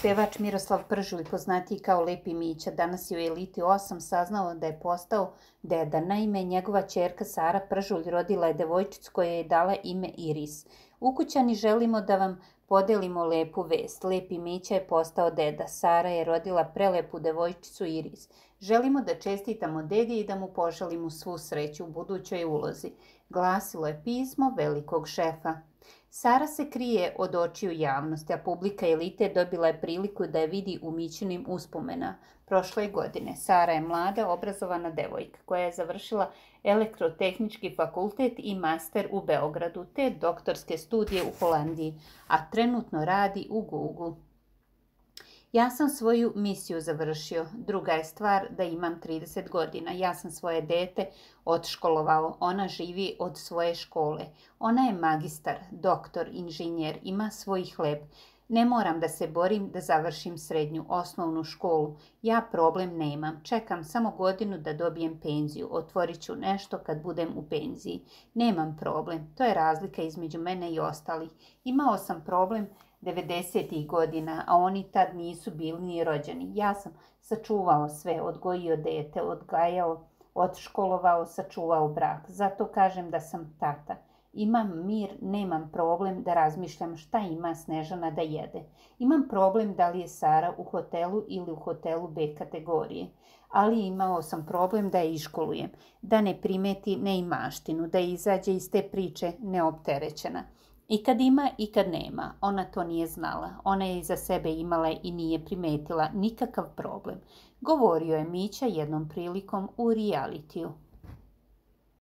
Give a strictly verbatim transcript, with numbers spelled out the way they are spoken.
Pevač Miroslav Pržulj, poznatiji kao Lepi Mića, danas je u Eliti osam saznao da je postao deda. Naime, njegova ćerka Sara Pržulj rodila je devojčicu koja je dala ime Iris. Ukućani, želimo da vam podelimo lepu vest. Lepi Mića je postao deda. Sara je rodila prelepu devojčicu Iris. Želimo da čestitamo dedi i da mu poželimo svu sreću u budućoj ulozi. Glasilo je pismo velikog šefa. Sara se krije od očiju javnosti, a publika Elite dobila je priliku da je vidi u Mićinim uspomena prošle godine. Sara je mlada, obrazovana devojka koja je završila elektrotehnički fakultet i master u Beogradu te doktorske studije u Holandiji, a trenutno radi u Google. Ja sam svoju misiju završio. Druga je stvar da imam trideset godina. Ja sam svoje dete odškolovao. Ona živi od svoje škole. Ona je magistar, doktor, inženjer, ima svoj hleb. Ne moram da se borim da završim srednju, osnovnu školu. Ja problem nemam. Čekam samo godinu da dobijem penziju. Otvorit ću nešto kad budem u penziji. Nemam problem. To je razlika između mene i ostalih. Imao sam problem devedesetih godina, a oni tad nisu bili ni rođeni. Ja sam sačuvao sve, odgojio dete, odgajao, odškolovao, sačuvao brak. Zato kažem da sam tata. Imam mir, nemam problem da razmišljam šta ima Snežana da jede. Imam problem da li je Sara u hotelu ili u hotelu B kategorije. Ali imao sam problem da je iškolujem, da ne primeti neimaštinu, da izađe iz te priče neopterećena. I kad ima i kad nema, ona to nije znala. Ona je iza sebe imala i nije primetila nikakav problem. Govorio je Mića jednom prilikom u realitiju.